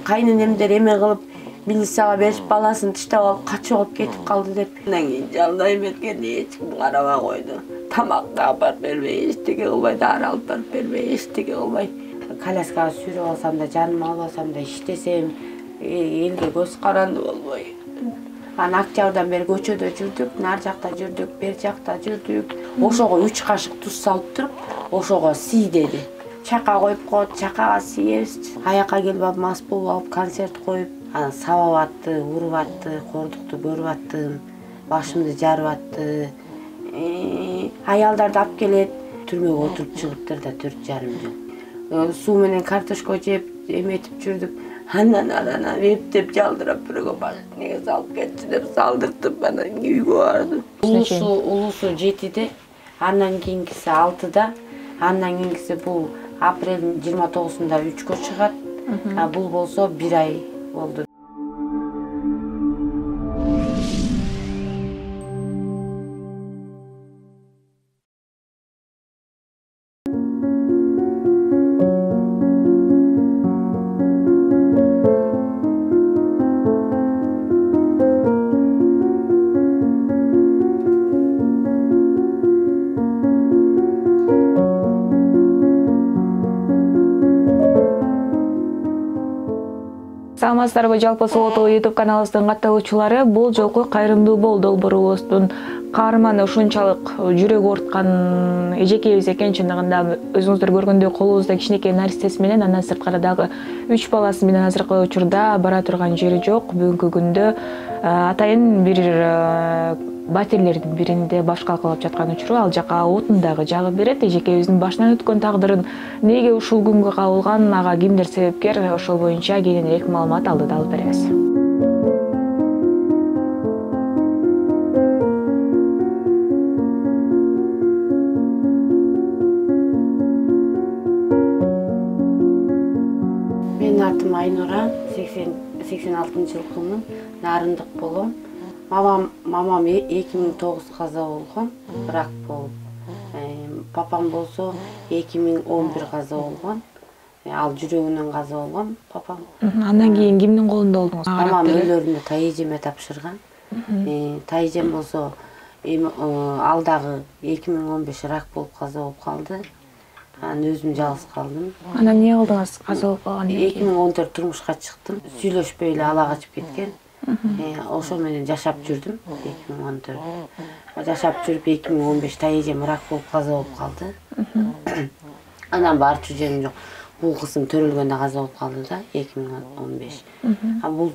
кайненемдер эме кылып милицияга берип баласын тыштап алып качып алып кетип калды деп. Андан кийин жалдай эметкен эч ким карабай койду. Тамак да алып бербей, эчтеке кылбай, дары алып бербей, эчтеке кылбай. Коляскага сүйрөп алсам да, жаныма албасам да, иштесем элге көз каранды болбой. Анан октябрдан бери көчөдө жүрдүк, нар жакта жүрдүк, бер жакта жүрдүк. Ошого 3 кашык туз салып туруп, ошого сий деди. Чака коюп коет, чакага сийебиз. Аяка келип мас болуп алып концерт коюп, анан сабап атты, уруп атты, кордукту көрүп аттым, башымды жарып атты. Аялдарды алып келет, түрмөгө отуруп чыгыптыр да 4,5 жыл. Суу менен картошка жеп, эметип жүрдүк. Анан эптеп жалдырап бирөөгө барып, неге салып кетчи деп салдыртып, анан үйгө бардым. Улусу 7-де, андан кийинкиси 6-да, андан кийинкиси бул апрелдин 29-сунда 3кө чыгат. Бул болсо 1 ай болду. Саламатсыздарбы, жалпы Сулуу YouTube каналыбыздын катталуучулары, бул жолку кайрымдуу бол долбоорубуздун каарманы ушунчалык жүрөгү ооруткан эжекебиз экен. Чындыгында өзүңүздөр көргөндөй колубузда кичинекей наристеси менен, андан сырткары дагы 3 баласы менен азыркы учурда бара турган жери жок. Бүгүнкү күндө атайын бир батирлердин биринде баш калкалап жаткан учуру, ал жака отун дагы жагып берет. Эжекебиздин башынан өткөн тагдырын эмнеге ушул күнгө кабылган, ага кимдер себепкер, ошол боюнча кененирээк маалымат алдыда алып беребиз. Менин атым Айнура, 86-жылкымын, нарындык болом. Мамам 2009 каза болгон, рак болуп. Папам болсо 2011 каза болгон. Ал жүрөгүнөн каза болгон папам. Андан кийин кимдин колунда болдуңуз? Мамам өлөрүндө тайэжеме тапшырган. Тайэжем болсо ал дагы 2015 рак болуп каза болуп калды. Анан өзүм жалгыз калдым. Анан эмне кылдыңыз каза болуп калгандан кийин? 2014 турмушка чыктым. Сүйлөшпөй эле ала качып кеткен. Ошол менен жашап жүрдүм 2014. Жашап жүрүп 2015 тайэжем рак болуп каза болуп калды. Анан барчу жерим жок. Бул кызым төрөлгөндө каза болуп калды да 2015. Бул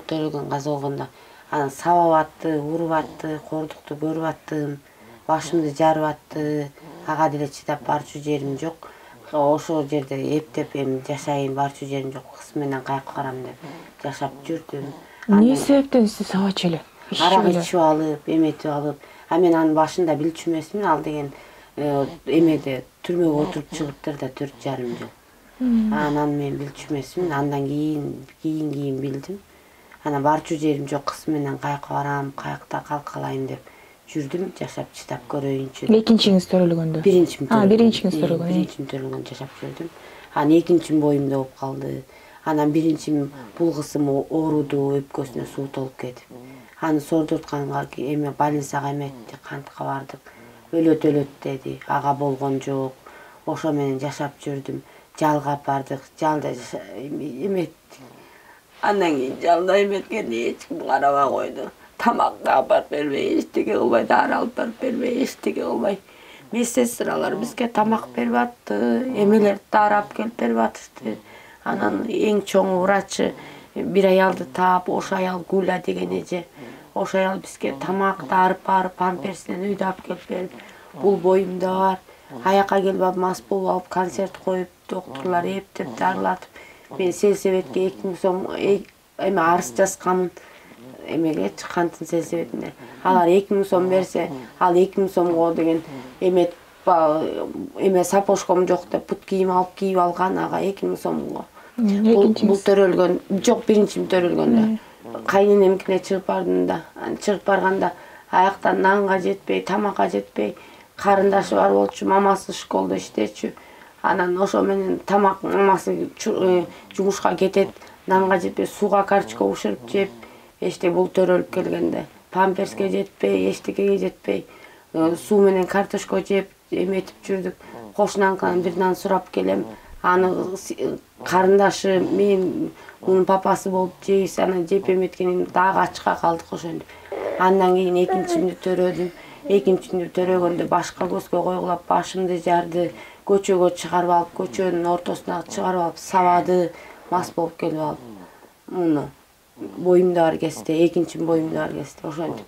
төрөлгөн каза болгондо анан сабап атты, уруп атты, кордукту көрүп аттым, башымды жарып атты. Ага деле чыдап барчу жерим жок. Ошол жерде эптеп эми жашайын, барчу жерим жок, кыз менен каяка барам деп жашап жүрдүм. Эмне себептен сиз сабачу эле? Арак ичип алып, эметип алып. Мен анын башында билчү эмесмин, ал деген эмеде түрмөгө отуруп чыгыптыр да 4,5 жыл. Анан мен билчү эмесмин, андан кийин билдим. Анан барчу жерим жок, кыз менен каяка барам, каякта калкалайм деп жүрдүм, жашап чыдап көрөйүнчү. Экинчиңиз төрөлгөндө? Биринчим төрөлгөн. Биринчим төрөлгөндө жашап жүрдүм. Анан экинчим боюмда болуп калды. Анан биринчим бул кызым ооруду, өпкөсүнө суу толуп кетип. Аны сордуртканга эме больницага эметти, кантка бардык. Өлөт деди, ага болгон жок. Ошо менен жашап жүрдүм. Жалгап бардык, жалда эметтик. Андан кийин жалда эметкен эч ким карабай койду. Тамак да алып бербей, эчтеке кылбай, дары алып бербей, эчтеке кылбай. Медсестралар бизге тамак берип атты, эмелерди дары алып келип берип атышты. Анан эң чоң врачы бир аялды таап, ошо аял Гуля деген эже. Ошо аял бизге тамак дарып барып, памперсинен үйдө алып келип берип, бул боюмда бар. Аяка келип мас болуп алып концерт коюп, доктурлар эптеп дарылатып. Мен сельсоветке 2000 сом эме арыз жазганмын. Эмеге чыккандын сельсоветине. Алар 2000 сом берсе, ал 2000 сомго деген эме сапожком жок деп бут кийим алып кийип алган, ага 2000 сомго. Бул төрөлгөн, жок, биринчим төрөлгөндө. Кайненемкине чыгып бардым да, чыгып барганда аяктан нанга жетпей, тамакка жетпей, карындашы бар болчу, мамасы школдо иштечү. Анан ошо менен тамак мамасы жумушка кетет, нанга жетпей сууга карточка бышырып жеп, эчтеке бул төрөлүп келгенде памперске жетпей, эчтекеге жетпей, суу менен картошка жеп эметип жүрдүк. Кошунаныкынан бир нан сурап келем. Аны карындашы мен мунун папасы болуп жейбиз, анан жеп эметкенин дагы ачка калдык ошентип. Андан кийин экинчимди төрөдүм. Экинчимди төрөгөндө башка көзгө койгулап башымды жарды, көчөгө чыгарып алып, көчөнүн ортосуна чыгарып алып сабады, мас болуп келип алып. Муну боюмду бар кезде, экинчим боюмду бар кезде ошентип.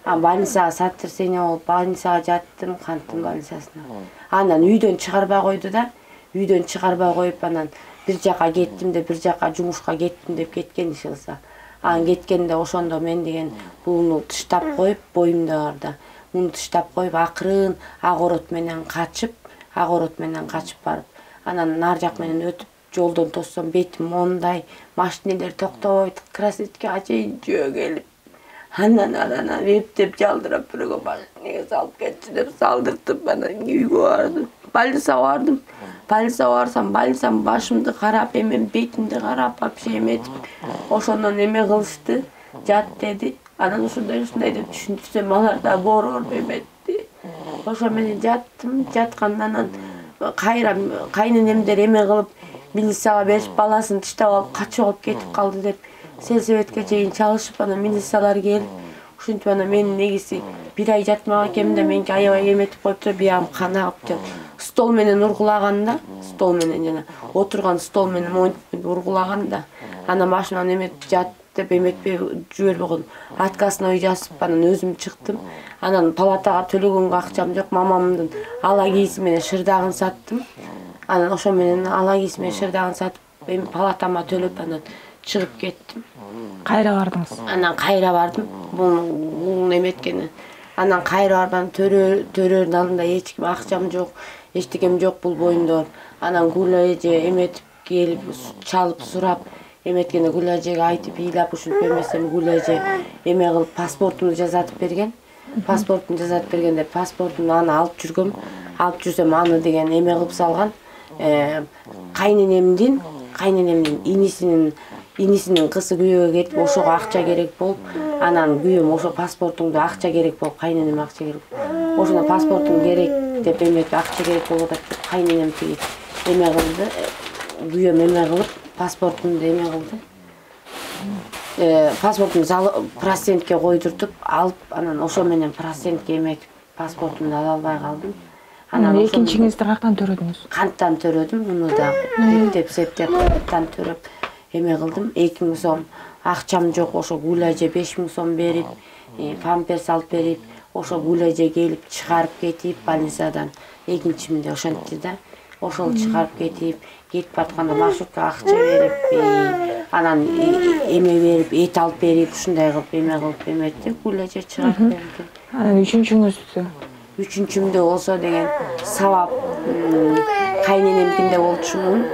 Больницага сотрясение болуп, больницага жаттым, канттын больницасына. Андан үйдөн чыгарбай койду да, үйдөн чыгарбай коюп, анан бир жака кеттим деп, бир жака жумушка кеттим деп кеткен иши кылса. Анан кеткенде ошондо мен деген буну тыштап коюп, боюмда барда. Муну тыштап коюп, акырын ак орот менен качып барып, анан нар жак менен өтүп, жолдон тоссом, бетим мондай, машинелер токтобойт, красноярскага чейин жөө келип, анан арана эптеп жалдырап бирөөгө машинеге салып кетчи деп салдыртып, анан үйгө бардым. Больницага бардым. Больницага барсам, больницанын башымды карап, эмен бетимди карап, вообще эметип, ошондон эме кылышты, жат деди. Анан ушундай деп түшүндүрсөм, алар да боорор эметти. Ошо менен жаттым, жаткандан анан кайра кайненемдер эме кылып, милицияга берип, баласын тыштап алып, качып алып кетип калды деп, сельсоветке чейин чалышып, анан милициялар келип, ушинтип анан менин негизи бир ай жатмак экенмин да, меники аябай эметип коюптур, биягым кан агып деп, стол менен ургулаган да, стол менен жана отурган стол менен монтип ургулаган да. Анан башыман эметип жат деп эметпей жибербей койдум. Отказ үй жазып, анан өзүм чыктым. Анан палатага төлөгөнгө акчам жок, мамамдын ала кийиси менен шырдагын саттым. Анан ошо менен ала кийиси менен шырдагын сатып, эми палатама төлөп, анан чыгып кеттим. Кайра бардыңыз? Анан кайра бардым. Бул эметкени. Анан кайра барган төрөөнүн алдында эч ким, акчам жок, эчтекем жок бул боюмда. Анан Гүл эже эметип келип, чалып сурап, эметкенде Гүл эжеге айтып, ыйлап ушинтип эмесем, Гүл эже эме кылып паспортумду жасатып берген. Паспортумду жасатып бергенде паспортумду аны алып жүргөм. Алып жүрсөм аны деген эме кылып салган. Кайненемдин инисинин кызы күйөөгө кетип, ошого акча керек болуп, анан күйөөм ошо паспортуңду акча керек болуп, кайненеме акча керек. Ошондо паспортум керек деп эметип, акча керек болуп атат деп кайненем тиги эме кылды. Күйөөм эме кылып, паспортумду эме кылды. Паспортумду процентке койдуртуп алып, анан ошо менен процентке эметип, паспортумду ала албай калдым. Анан экинчиңизди каяктан төрөдүңүз? Канттан төрөдүм, муну да эптеп канттан төрөп эме кылдым. 2000 сом акчам жок, ошо Гүл эже 5000 сом берип, памперс алып берип, ошо Гүл эже келип чыгарып кетип больницадан. Экинчимде ошентти да. Ошол чыгарып кетип баратканда маршруткага акча берип, анан эме берип, эт алып берип, ушундай кылып эме кылып эметти. Гүл эже чыгарып берди. Анан үчүнчүңүздү? Үчүнчүмдө болсо деген сабап кайненемкинде болчумун.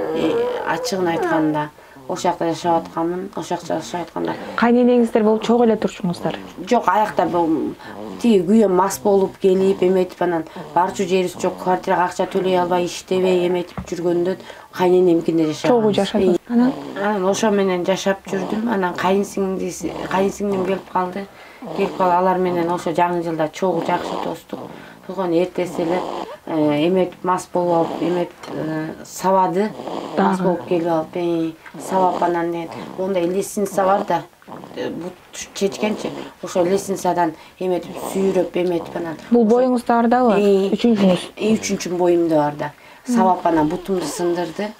Ачыгын айтканда, ошол жакта жашап атканмын. Ошол жакта жашап атканда кайненеңиздер болуп чогуу эле турчуңуздар? Жок, аякта тиги күйөөм мас болуп келип эметип, анан барчу жерибиз жок, квартирага акча төлөй албай, иштебей эметип жүргөндө кайненемкинде жашап. Чогуу жашадыңыз? Анан ошо менен жашап жүрдүм. Анан кайынсиңдим келип калды. Алар менен ошо жаңы жылда чогуу жакшы достук. Болгон эртеси эле эметип мас болуп алып, эметип сабады. Мас болуп келип алып, сабап анан деген ондай лестница бар да. Бут чечкенчи, ошо лестницадан эметип сүйрөп эметип анан. Бул боюңузда бардабы? Үчүнчүңүз? Үчүнчүм боюмда барда. Сабап анан бутумду сындырды.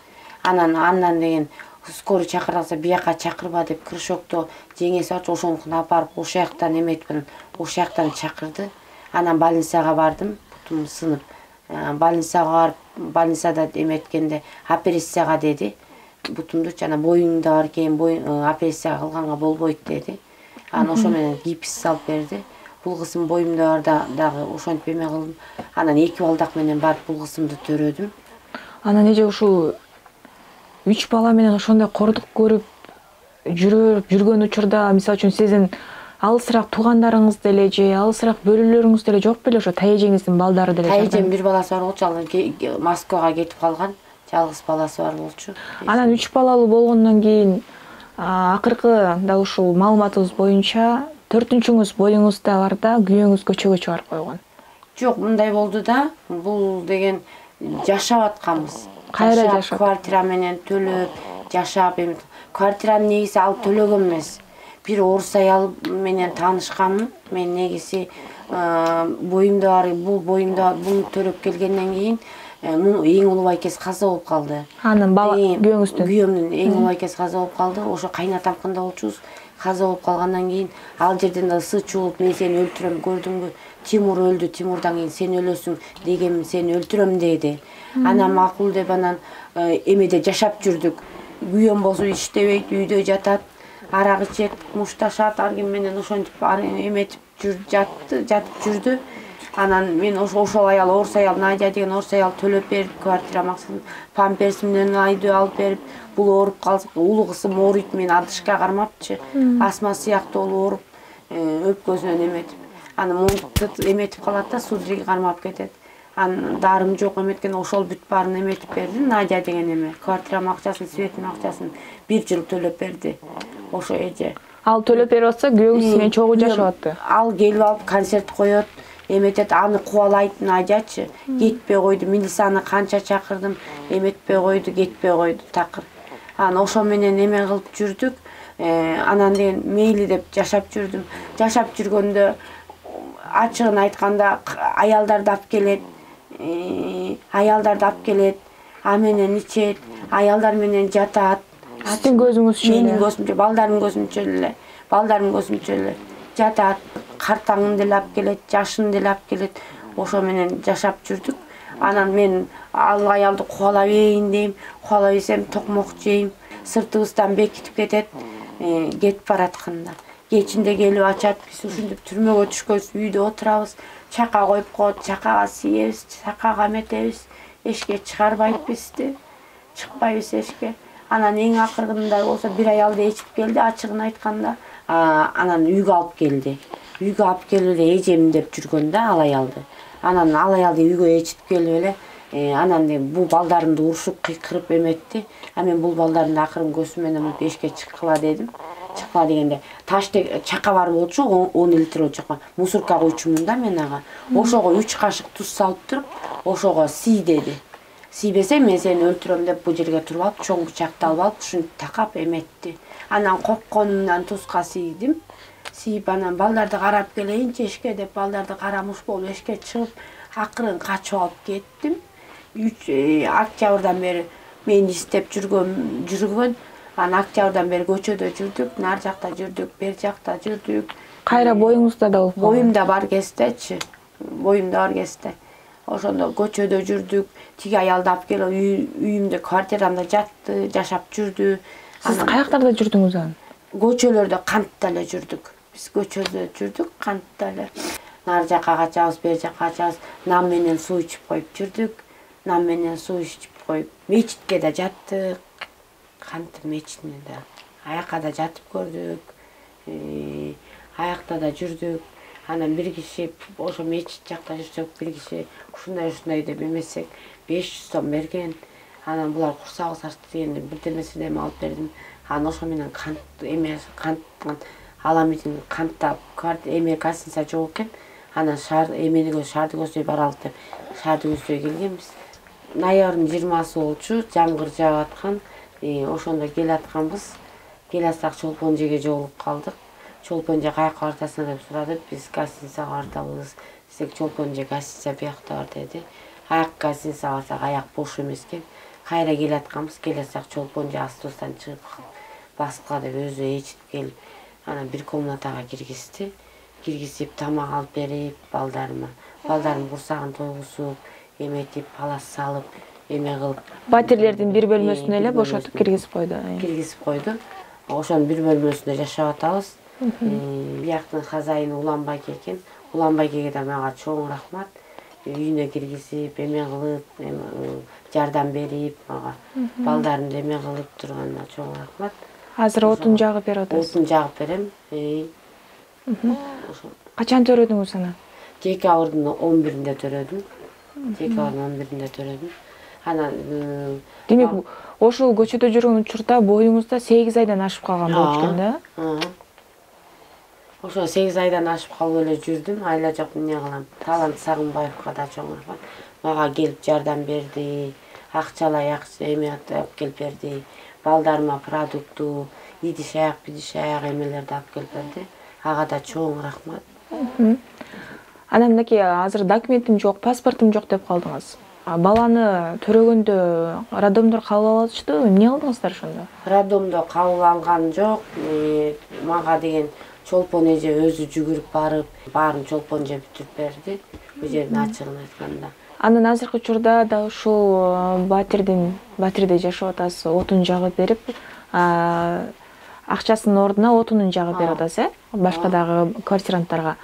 Андан деген скорый чакырса, бияка чакырба деп крышокто жеңеси бар, ошонукун апарып ошол жактан эметип, ошол жактан чакырды. Анан больницага бардым, бутум сынып. Больницага барып, больницада эметкенде операцияга деди. Бутумду жана боюңда бар экен, операция кылганга болбойт деди. Анан ошо менен гипс салып берди. Бул кызым боюмда бар дагы ошентип эме кылдым. Анан 2 балдак менен барып бул кызымды төрөдүм. Анан эже ушул 3 бала менен ошондой кордук көрүп жүргөн учурда, мисалы үчүн сиздин алысыраак туугандарыңыз деле же алысыраак бөлөлөрүңүз деле жок беле, ошо тайэжеңиздин балдары деле? Тайэжем бир баласы бар болчу, ал Москвага кетип калган. Жалгыз баласы бар болчу. Анан 3 балалуу болгондон кийин Акыркы да ушул маалыматыбыз боюнча 4-үңүз боюңузда барда күйөөңүз көчөгө чыгарып койгон. Жок, мындай болду да. Бул деген жашап атканбыз. Кайра жашап? Квартира менен төлөп, жашап, эми квартираны негизи алып төлөгөн эмес. Бир орус аял менен таанышканмын. Мен негизи боюмда бар, бул боюмда буну төлөп келгенден кийин эң улуу байкеси каза болуп калды. Анын бала күйөөңүздүн? Күйөөмдүн эң улуу байкеси каза болуп калды. Ошо кайнатамкында болчубуз. Каза болуп калгандан кийин ал жерден да ысы чуулуп, мен сени өлтүрөм, көрдүңбү? Тимур өлдү, Тимурдан кийин сен өлөсүң дегенмин, сени өлтүрөм деди. Анан макул деп анан эмеде жашап жүрдүк. Күйөөм болсо иштебейт, үйдө жатат, арак ичет, мушташат, ар ким менен ошентип эметип жатып жүрдү. Анан мен ошол аял, орус аял, Надя деген орус аял төлөп берип, квартира максатын памперс менен айдөө алып берип, бул ооруп калса, улуу кызым ооруйт, мен адышка кармапчы. Асма сыяктуу ооруп, өпкөсүнөн эметип. Анан монтуп эметип калат да, судороги кармап кетет. Анан дарым жок эметкен, ошол бүт баарын эметип берди. Надя деген эме. Квартира акчасын, светтин акчасын 1 жыл төлөп берди. Ошо эже. Ал төлөп берип атса, күйөөңүз менен чогуу жашап атты. Ал келип алып концерт коет, эметет, аны кубалайт Надячы. Кетпей койду. Милицияны канча чакырдым, эметпей койду, кетпей койду такыр. Анан ошо менен эме кылып жүрдүк. Анан деген мейли деп жашап жүрдүм. Жашап жүргөндө ачыгын айтканда аялдарды алып келет. Аялдарды алып келет, а менен ичет, аялдар менен жатат. Сиздин көзүңүзчө эле? Менин көзүмчө, балдарымдын көзүмчө эле. Балдарымдын көзүмчө эле жатат. Картаңын деле алып келет, жашын деле алып келет. Ошо менен жашап жүрдүк. Анан мен ал аялды кубалап ийин дейм, кубалап ийсем токмок жейм. Сыртыбыздан бекитип кетет, кетип баратканда. Кечинде келип ачат, биз ушинтип түрмөгө түшкөнбүз, үйдө отурабыз, чака коюп коет, чакага сиебиз, чакага эметебиз, эшикке чыгарбайт бизди, чыкпайбыз эшикке. Анан эң акыркында болсо бир аялды ичип келди, ачыгын айтканда, анан үйгө алып келди. Үйгө алып келип эле эжем деп жүргөн да ал аялды. Анан ал аялды үйгө ичип келип эле, анан бул балдарымды урушуп, кыйкырып эметти. А мен бул балдарды акырын көзүм менен эшикке чыккыла дедим. Чыккыла дегенде таштек чака бар болчу, 10 литр чака. Мусорка койчумун да мен ага. Ошого 3 кашык туз салып туруп, ошого сий деди. Сийбесе мен сени өлтүрөм деп бул жерге туруп алып, чоң бычакты алып алып, ушинтип такап эметти. Анан коркконумдан тузга сийдим. Сийип анан балдарды карап келейинчи эшикке деп балдарды карамыш болуп эшикке чыгып, акырын качып алып кеттим. 3 октябрдан бери мени издеп жүргөн. Анан октябрдан бери көчөдө жүрдүк, нар жакта жүрдүк, бер жакта жүрдүк. Кайра боюңузда да болуп калган? Боюмда бар кездечи. Боюмда бар кезде. Ошондо көчөдө жүрдүк. Тиги аялды алып келип үйүмдө, квартирамда жатты, жашап жүрдү. Сиз каяктарда жүрдүңүз анан? Көчөлөрдө кантта эле жүрдүк. Биз көчөдө жүрдүк, кантта эле. Нар жакка качабыз, бер жакка качабыз. Нам менен суу ичип коюп жүрдүк. Нам менен суу ичип коюп, мечитке да жаттык. Кант мечитине да. Аякка да жатып көрдүк. Аякта да жүрдүк. Анан бир киши ошо мечит жакта жүрсөк, бир киши ушундай деп эмесек 500 сом берген. Анан булар курсагыбыз ачты дегенде бирдемесине алып бердим. Анан ошо менен кант аламитин кантта эме гостиница жок экен. Анан шаарды көздөй баралык деп шаарды көздөй келгенбиз. Ноябрдын 20-сы болчу, жамгыр жаап аткан. Ошондо келатканбыз. Келатсак Чолпон жерге жолугуп калдык. Чолпон же каяка бардасың деп сурады. Биз гостиницага бардыбыз. Десек Чолпон же гостиница биякта бар деди. Аяк гостиницага барсак аяк бош эмес экен. Кайра келатканбыз. Келатсак Чолпон же автобустан чыгып баскыла деп өзү ичип келип, анан бир комнатага киргизип, тамак алып берип балдарыма. Балдарым курсагын тойгузуп, эметип, палас салып, эме кылып. Батирлердин бир бөлмөсүнө эле бошотуп киргизип койду. Киргизип койду. Ошонун бир бөлмөсүндө жашап атабыз. Бияктын хозяйыны Уланбайке экен. Уланбайкеге да мага чоң рахмат. Үйүнө киргизип, эме кылып, жардам берип мага. Балдарымды эме кылып турганына чоң рахмат. Азыр отун жагып берип атасыз? Отун жагып берем. Качан төрөдүңүз аны? Декабрдын 11-inde төрөдүм. Анан демек ошол көчөдө жүргөн учурда боюңузда 8 айдан ашып калган болчу экен да? Ошо 8 айдан ашып калып эле жүрдүм. Айла жок эмне кылам. Талант Сагынбаевка да чоңурган. Мага келип жардам берди. Акчалай эме алып келип берди. Балдарыма продукту, идиш аяк, бидиш аяк эмелерди алып келип берди. Ага да чоң рахмат. Анан мынакей азыр документим жок, паспортум жок деп калдыңыз. Баланы төрөгөндө роддомдор кабыл алышты, эмне кылдыңыздар ошондо? Роддомдо кабыл алган жок. Мага деген чолпон эже өзү жүгүрүп барып, баарын чолпон эже бүтүрүп берди. Бул жердин ачыгын айтканда. Анан азыркы учурда да ушул батирде жашап атасыз, отун жагып берип, акчасынын ордуна отунун жагып берип атасыз, башка дагы квартиранттарга.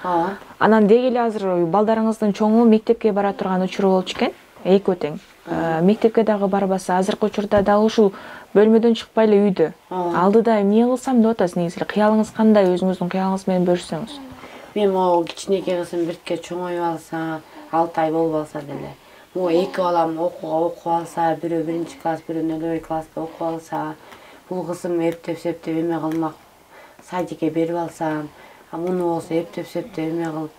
Анан деги эле азыр балдарыңыздын чоңу мектепке бара турган учуру болчу экен, экөө тең. Мектепке дагы барбаса, азыркы учурда дагы ушул бөлмөдөн чыкпай эле үйдө. Алдыда эмне кылсам деп атасыз негизи? Кыялыңыз кандай? Өзүңүздүн кыялыңыз менен бөлүшсөңүз. Мен могу кичинекей кызым биртке чоңоюп алса, 6 ай болуп алса деле. Могу 2 балам окуп алса, бирөө 1-класс, бирөө 0 класста окуп алса, бул кызым эптеп эме кылмак, садикке берип алсам, муну болсо эптеп эме кылып,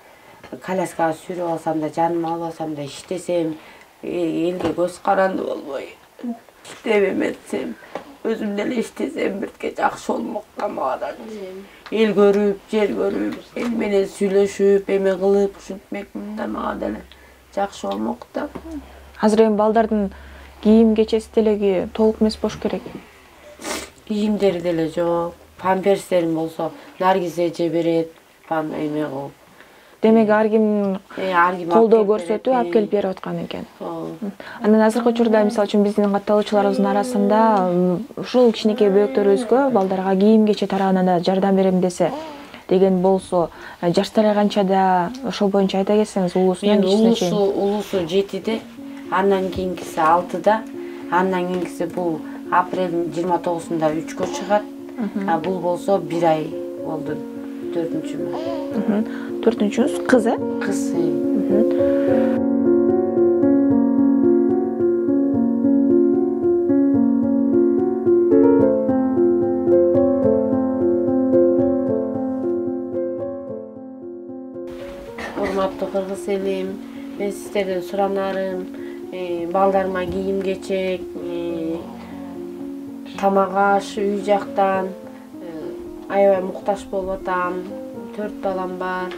коляскага сүйрөп алсам да, жаныма алып алсам да, иштесем, элге көз каранды болбой, иштеп эметсем, өзүм деле иштесем биртке жакшы болмок да мага да. Эл көрүп, жер көрүп, эл менен сүйлөшүп, эме кылып, ушинтмекмин да мага деле жакшы болмок да. Азыр эми балдардын кийим кечеси деле толук эмес болуш керек. Кийимдери деле жок. Памперстерим болсо Наргиз эже берет, эме кылып. Демек ар ким колдоо көрсөтүп алып келип берип аткан экен. Анан азыркы учурда мисалы үчүн биздин катталуучуларыбыздын арасында ушул кичинекей бөөктөрүбүзгө балдарга кийим кече тарабынан да жардам берем десе деген болсо, жаштары канчада, ошол боюнча айта кетсеңиз, улуусунан кичине чейин. Улуусу 7-де, андан кийинкиси 6-да, андан кийинкиси бул апрелдин 29-сунда 3кө чыгат. Бул болсо 1 ай болду, 4-чүмүн. 4-чүңүз кыз, Кыз. Урматтуу кыргыз элим, мен сиздерден суранарым, балдарыма кийим кечек, тамак аш үй жактан аябай муктаж болуп атам. 4 балам бар.